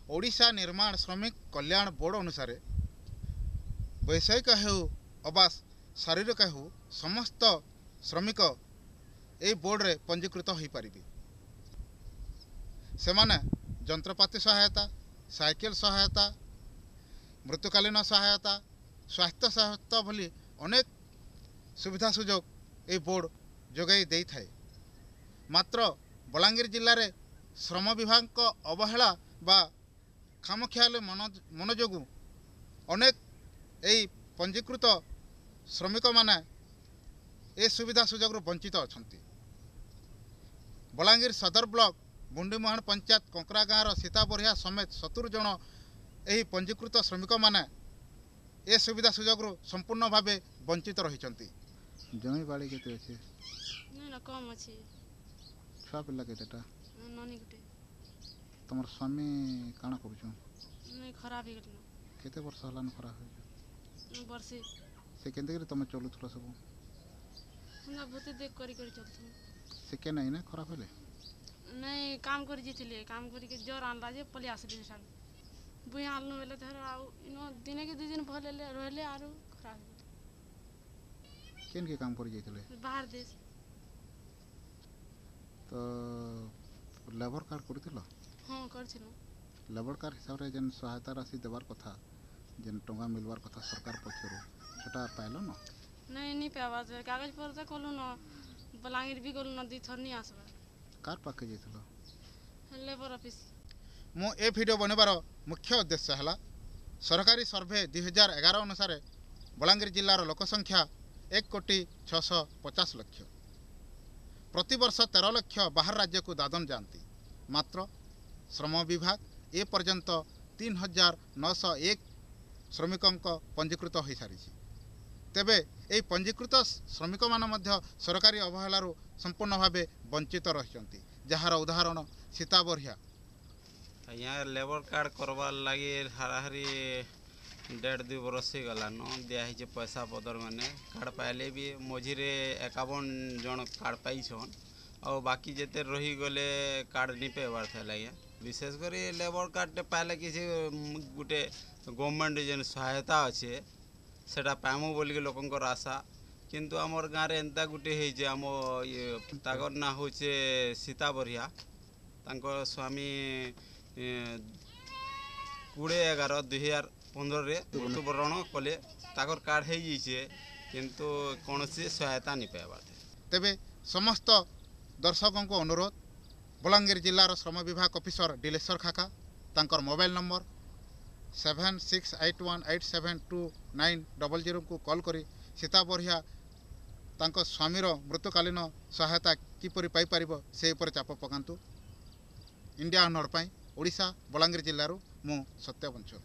ଓଡ଼ିଶା ନିର୍ମାଣ ଶ୍ରମିକ କଲ୍ୟାଣ ବୋର୍ଡ଼ ଅନୁସାରେ ବୈଷୟିକ ହେଉ ଅବା ଶାରୀରିକ ହେଉ, ସମସ୍ତ ଶ୍ରମିକ ଏହି ବୋର୍ଡ଼ରେ ପଞ୍ଜୀକୃତ ହୋଇପାରିବେ। ସେମାନେ ଯନ୍ତ୍ରପାତି ସହାୟତା, ସାଇକେଲ ସହାୟତା, ମୃତ୍ୟୁକାଳୀନ ସହାୟତା, ସ୍ୱାସ୍ଥ୍ୟ ସହାୟତା ଭଳି ଅନେକ ସୁବିଧା ସୁଯୋଗ ଏହି ବୋର୍ଡ଼ ଯୋଗାଇ ଦେଇଥାଏ। ମାତ୍ର ବଲାଙ୍ଗୀର ଜିଲ୍ଲାରେ ଶ୍ରମ ବିଭାଗଙ୍କ ଅବହେଳା ବା ଖାମଖିଆଲି ମନ ଯୋଗୁଁ ଅନେକ ଏହି ପଞ୍ଜୀକୃତ ଶ୍ରମିକମାନେ ଏ ସୁବିଧା ସୁଯୋଗରୁ ବଞ୍ଚିତ ଅଛନ୍ତି। ବଲାଙ୍ଗୀର ସଦର ବ୍ଲକ ବୁଣ୍ଡିମୁହାଣ ପଞ୍ଚାୟତ କଙ୍କରା ଗାଁର ସୀତା ବରିହା ସମେତ 70 ଜଣ ଏହି ପଞ୍ଜୀକୃତ ଶ୍ରମିକମାନେ ଏ ସୁବିଧା ସୁଯୋଗରୁ ସମ୍ପୂର୍ଣ୍ଣ ଭାବେ ବଞ୍ଚିତ ରହିଛନ୍ତି। ଜମି ବାଡ଼ି କେତେ ଅଛି? ନାଇଁ ନା, କମ୍ ଅଛି। ଛୁଆ ପିଲା କେତେଟା? ନନୀ ଗୋଟେ। ତମର ସ୍ୱାମୀ କାଣା କରୁଛନ୍? ନାଇଁ, ଖରାପ ହେଇଗଲେନ। କେତେ ବର୍ଷ ହେଲାନ ଖରାପ ହେଇଛ? ବର୍ଷେ। ସେ କେନ୍ତା କରି ତମେ ଚଲୁଥିଲ ସବୁ? ହେନ୍ତା ଭୂତି ଦେଖ କରି କରି ଚଲୁଥିଲୁ। ସେ କେନ୍ ଏଇନେ ଖରାପ ହେଲେ? ନାଇଁ, କାମ କରି ଯାଇଥିଲେ। କାମ କରିକି ଜର ଆଣିଲା ଯେ ପଳେଇ ଆସିଲି। ସେଠାରୁ ବୁଇଁ ଆଣିଲୁ ବେଲେ ଧର ଆଉ ଇନ ଦିନେ କି 2 ଦିନ ଭଲ ହେଲେ ରହିଲେ, ଆରୁ ଖରାପ ହେଇଗଲେ। କେନ୍କେ କାମ କରି ଯାଇଥିଲେ? ବାହାର ଦେଶ। ତ ଲେବର କାର୍ଡ଼ କରିଥିଲ? ହଁ, କରିଥିଲୁ। ଲେବର କାର୍ଡ଼ ହିସାବରେ ଯେନ୍ ସହାୟତା ରାଶି ଦେବାର କଥା, ଯେନ୍ ଟଙ୍କା ମିଲବାର କଥା ସରକାର ପକ୍ଷରୁ, ସେଟା ପାଇଲ ନ? ନାଇଁ, ନି ପାଇବା। କାଗଜ ପତ୍ର ତ କଲୁ ନ, ବଲାଙ୍ଗୀର ବି ଗଲୁ ନ 2 ଥର, ନି ଆସବା। କାର୍ ପାଖେ ଯାଇଥିଲ? Labour office. ମୁଁ ଏ ଭିଡ଼ିଓ ବନେଇବାର ମୁଖ୍ୟ ଉଦ୍ଦେଶ୍ୟ ହେଲା, ସରକାରୀ ସର୍ଭେ 2011 ଅନୁସାରେ ବଲାଙ୍ଗୀର ଜିଲ୍ଲାର ଲୋକ ସଂଖ୍ୟା 1 କୋଟି 650 ଲକ୍ଷ। ପ୍ରତିବର୍ଷ 13 ଲକ୍ଷ ବାହାର ରାଜ୍ୟକୁ ଦାଦନ ଯାଆନ୍ତି। ମାତ୍ର ଶ୍ରମ ବିଭାଗ ଏ ପର୍ଯ୍ୟନ୍ତ 3901 ଶ୍ରମିକଙ୍କ ପଞ୍ଜୀକୃତ ହୋଇସାରିଛି। ତେବେ ଏହି ପଞ୍ଜୀକୃତ ଶ୍ରମିକମାନେ ମଧ୍ୟ ସରକାରୀ ଅବହେଳାରୁ ସମ୍ପୂର୍ଣ୍ଣ ଭାବେ ବଞ୍ଚିତ ରହିଛନ୍ତି, ଯାହାର ଉଦାହରଣ ସୀତା ବରିହା। ଆଜ୍ଞା, ଲେବର୍ କାର୍ଡ଼ କରବାର୍ ଲାଗି ହାରାହାରି ଦେଢ଼ ଦୁଇ ବରଷ ହେଇଗଲାନ। ଦିଆହେଇଛେ ପଇସା ପତର ମାନେ। କାର୍ଡ଼ ପାଇଲେ ବି ମଝିରେ 51 ଜଣ କାର୍ଡ଼ ପାଇଛନ୍, ଆଉ ବାକି ଯେତେ ରହିଗଲେ କାର୍ଡ଼ ନି ପାଇବାର୍ ଥିଲା ଆଜ୍ଞା। ବିଶେଷ କରି ଲେବର୍ କାର୍ଡ଼ଟେ ପାଇଲେ କିଛି ଗୁଟେ ଗଭର୍ଣ୍ଣମେଣ୍ଟ ଯେନ୍ ସହାୟତା ଅଛେ, ସେଟା ପାଇମୁ ବୋଲିକି ଲୋକଙ୍କର ଆଶା। କିନ୍ତୁ ଆମର୍ ଗାଁରେ ଏନ୍ତା ଗୁଟେ ହେଇଛେ, ଆମ ଇଏ ତାକର୍ ନାଁ ହଉଛେ ସୀତା ବରିହା। ତାଙ୍କ ସ୍ୱାମୀ 20/11/2015ରେ ମୃତ୍ୟୁବରଣ କଲେ। ତାକର୍ କାର୍ଡ଼ ହେଇଯାଇଛେ, କିନ୍ତୁ କୌଣସି ସହାୟତା ନି ପାଇବାର୍। ତେବେ ସମସ୍ତ ଦର୍ଶକଙ୍କୁ ଅନୁରୋଧ, ବଲାଙ୍ଗୀର ଜିଲ୍ଲାର ଶ୍ରମ ବିଭାଗ ଅଫିସର ଡିଲେଶ୍ୱର ଖାକା, ତାଙ୍କର ମୋବାଇଲ ନମ୍ବର 7681872900କୁ କଲ୍ କରି ସୀତା ବରିହା ତାଙ୍କ ସ୍ୱାମୀର ମୃତ୍ୟୁକାଳୀନ ସହାୟତା କିପରି ପାଇପାରିବ, ସେ ଉପରେ ଚାପ ପକାନ୍ତୁ। ଇଣ୍ଡିଆ ଅନହର୍ଡ ପାଇଁ ଓଡ଼ିଶା ବଲାଙ୍ଗୀର ଜିଲ୍ଲାରୁ ମୁଁ ସତ୍ୟ ବଞ୍ଚଲ।